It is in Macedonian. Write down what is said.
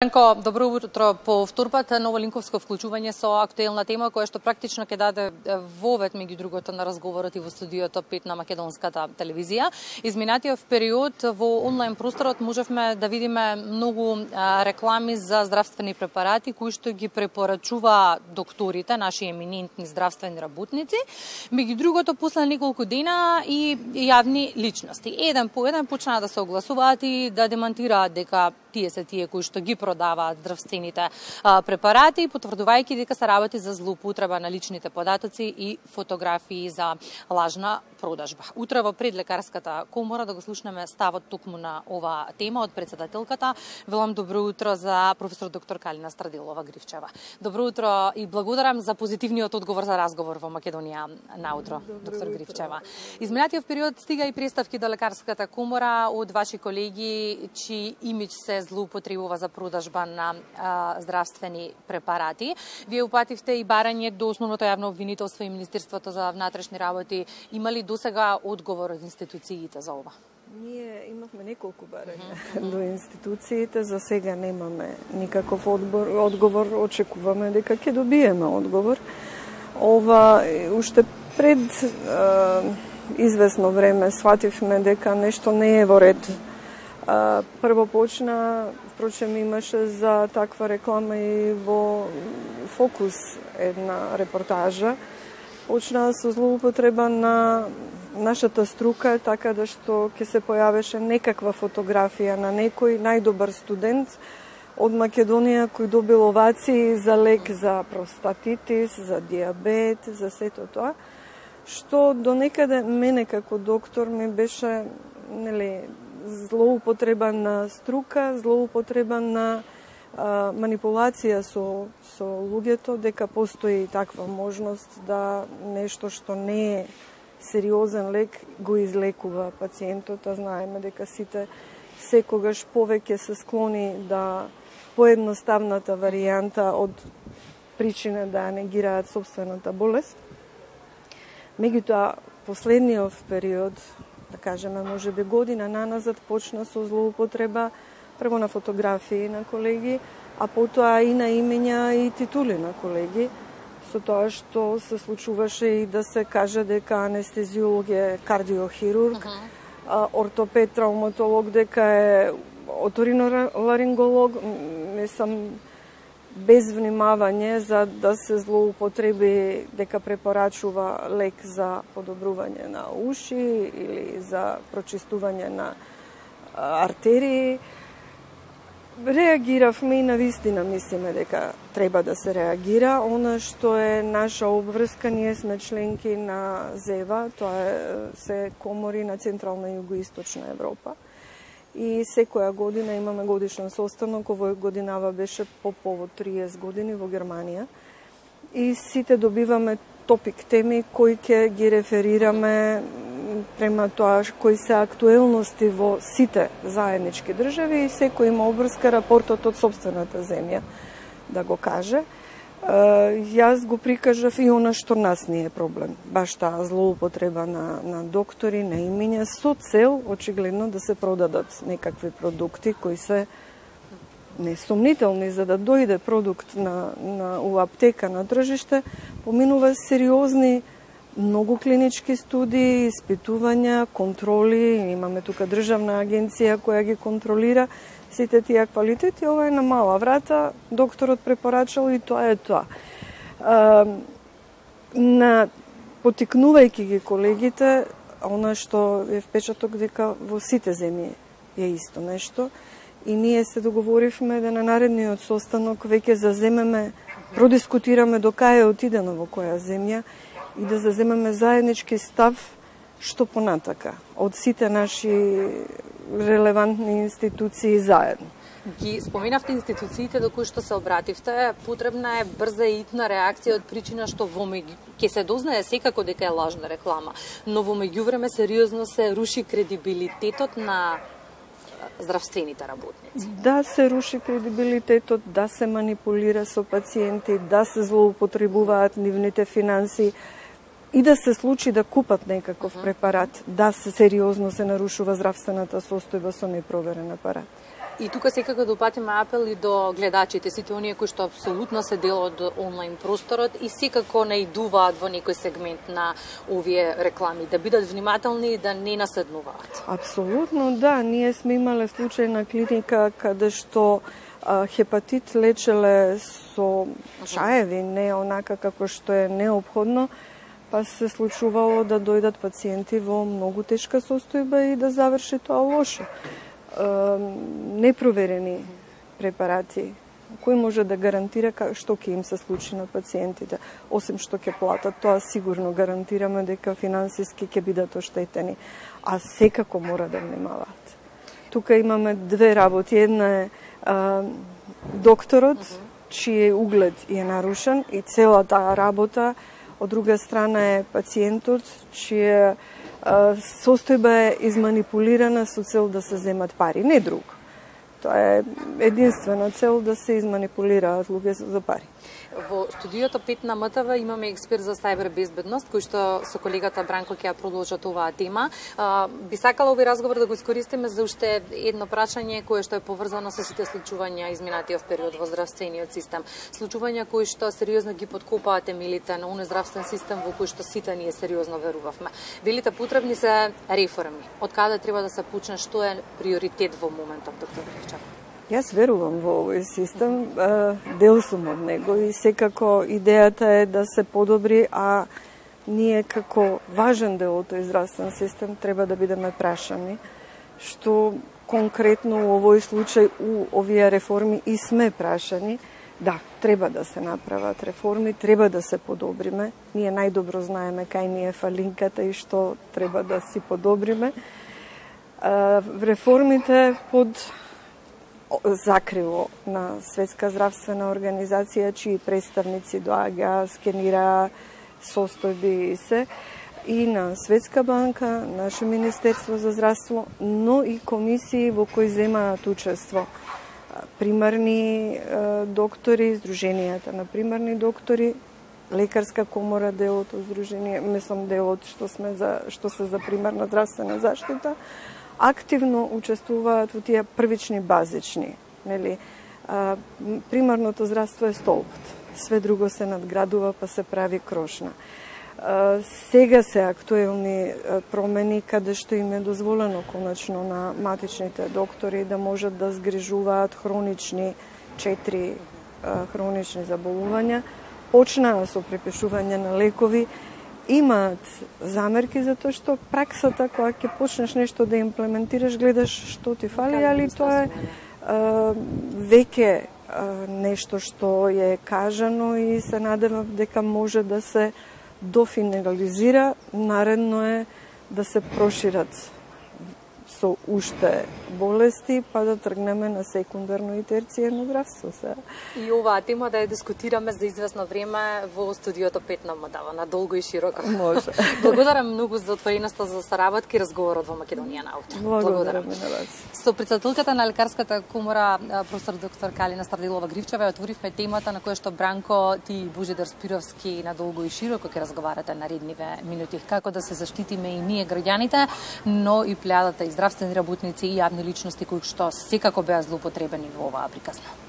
Ренко, добро утро. По вторпат ново линковско вклучување со актуелна тема која што практично ќе даде вовет меѓу другото на разговорот и во студиото 5 на македонската телевизија. Изминатиот период во онлайн просторот можевме да видиме многу реклами за здравствени препарати кои што ги препорачува докторите, наши еминентни здравствени работници. Меѓу другото, после неколку дена и јавни личности. Еден по еден почнаа да се огласуваат и да демантираат дека тие се тие кои што ги продаваат здравствените препарати, потврдувајќи дека се работи за злоупотреба на личните податоци и фотографии за лажна продажба. Утре во предлекарската комора да го слушнеме ставот токму на ова тема од председателката. Велам добро утро за професор доктор Калина Страдилова-Гривчева. Добро утро и благодарам за позитивниот одговор за разговор во Македонија наутро, доктор Гривчева. Изминатиот период стига и представки до лекарската комора од ваши колеги чии имидж се злоупотребува за продажба на здравствени препарати. Вие упативте и барање до основното јавно обвинителство и Министерството за внатрешни работи. Има ли досега одговор од институциите за ова? Ние имавме неколку барања до институциите, за сега немаме никаков одговор, очекуваме дека ќе добиеме одговор. Ова уште пред известно време свативме дека нешто не е во ред. Прво почна, впрочем имаше за таква реклама и во Фокус една репортажа. Почна со злоупотреба на нашата струка, така да што ќе се појавеше некаква фотографија на некој најдобар студент од Македонија кој добил овации за лек за простатитис, за диабет, за сето тоа, што до некаде мене како доктор ми беше злоупотреба на струка, злоупотреба на манипулација со луѓето, дека постои таква можност да нешто што не е сериозен лек го излекува пациентот, а знаеме дека сите секогаш повеќе се склони да поедноставната варијанта од причина да негираат собствената болест. Меѓутоа, последниот период, да кажеме, може би година наназад, почна со злоупотреба прво на фотографии на колеги, а потоа и на имења и титули на колеги, со тоа што се случуваше и да се каже дека анестезиолог е кардиохирург, ортопед, травматолог дека е оториноларинголог, не сам без внимавање за да се злоупотреби дека препорачува лек за подобрување на уши или за прочистување на артерии. Реагиравме и навистина мислиме дека треба да се реагира. Она што е наша обврска, ние сме членки на ЗЕВА, тоа се комори на Централна и Југоисточна Европа. И секоја година имаме годишен состанок, овој годинава беше по повод 30 години во Германија. И сите добиваме топик теми кои ќе ги реферираме према тоа кои се актуелности во сите заеднички држави и секој има обврска рапортот од собствената земја да го каже. Јас го прикажав и она што нас не е проблем. Баш таа злоупотреба на доктори, на имења, со цел, очигледно, да се продадат некакви продукти кои се несомнителни, за да дојде продукт у аптека на тржиште, поминува сериозни многу клинички студии, испитувања, контроли, имаме тука државна агенција која ги контролира сите тие квалитети. Ова е на мала врата, докторот препорачал и тоа е тоа. Потикнувајќи ги колегите, она што е впечаток дека во сите земји е исто нешто, и ние се договоривме да на наредниот состанок веќе заземеме, продискутираме до кај е отидено во која земја и да заземеме заеднички став што понатака од сите наши релевантни институции заедно. Ги споменавте институциите до кои што се обративте, потребна е брза и итна реакција од причина што ќе се дознае секако дека е лажна реклама, но во меѓувреме сериозно се руши кредибилитетот на здравствените работници. Да се руши кредибилитетот, да се манипулира со пациенти, да се злоупотребуваат нивните финанси и да се случи да купат некаков препарат, да се сериозно се нарушува здравствената состојба со непроверен апарат. И тука секако да упатиме апел и до гледачите, сите оние кои што апсолутно се дел од онлайн просторот и секако наидуваат во некој сегмент на овие реклами, да бидат внимателни и да не наседнуваат. Апсолутно, да. Ние сме имале случај на клиника каде што хепатит лечеле со чаеви, не онака како што е неопходно, па се случувало да дојдат пациенти во многу тешка состојба и да заврши тоа лошо. Непроверени препарати, кој може да гарантира што ќе им се случи на пациентите, осим што ќе платат, тоа сигурно гарантираме дека финансиски ќе бидат оштетени, а секако мора да внимаваат. Тука имаме две работи, една е докторот, чиј углед е нарушен и целата работа, од друга страна е пациентот, чија состојба е изманипулирана со цел да се земат пари, не друг. Тоа е единствена цел да се изманипулираат луѓе за пари. Во студиото 5 на МТВ имаме експерт за сајбер безбедност, кој што со колегата Бранко ќе ја продолжат оваа тема. Би сакала овој разговор да го искористиме за уште едно прашање кое што е поврзано со сите случувања изминатиот период во здравствениот систем. Случувања кои што сериозно ги подкопаат темелите на оној здравствен систем во кој што сите ние сериозно верувавме. Велите потребни се реформи. Од каде треба да се почне, што е приоритет во моментот, доктор Гривчев? Јас верувам во овој систем, дел сум од него и секако идејата е да се подобри, а ние како важен дел од тој здравствен систем треба да бидеме прашани, што конкретно у овој случај у овие реформи и сме прашани. Да, треба да се направат реформи, треба да се подобриме. Ние најдобро знаеме кај ни е фалинката и што треба да си подобриме. Реформите под закрило на Светска здравствена организација, чии представници доаѓаа, скенираа состојби и се, и на Светска банка, наше Министерство за здравство, но и комисии во кои земаат учество. Примарни доктори, Сдруженијата на примарни доктори, Лекарска комора, делот од Сдружение, делот што се за примарна здравствена заштита, активно учествуваат во тие првични базични. Примарното здравство е столбот. Све друго се надградува, па се прави крошна. Сега се актуелни промени каде што им е дозволено конечно на матичните доктори да можат да згрижуваат 4 хронични заболувања. Почнаа со препишување на лекови, имаат замерки за тоа што праксата кога ќе почнеш нешто да имплементираш, гледаш што ти фали, али тоа е веќе нешто што е кажано и се надевам дека може да се дофинализира. Наредно е да се прошират со уште болести, па да тргнеме на секундарно и терцијерно здравство. И оваа тема да ја дискутираме за известно време во студиото 5 на МТВ, на долго и широко. Може. Благодарам многу за отвореноста за саработка и разговорот во Македонија на утре. Благодарам на вас. Со председателката на Лекарската комора, професор доктор Калина Старделова Гривчева, отворивме темата на која што Бранко, ти и Божидар Спировски на долго и широко ќе разговарате наредниве минути. Како да се заштитиме и ние граѓаните, но и плејадата и здравствени работници и јавни личности кои што секако беа злоупотребени во оваа приказна.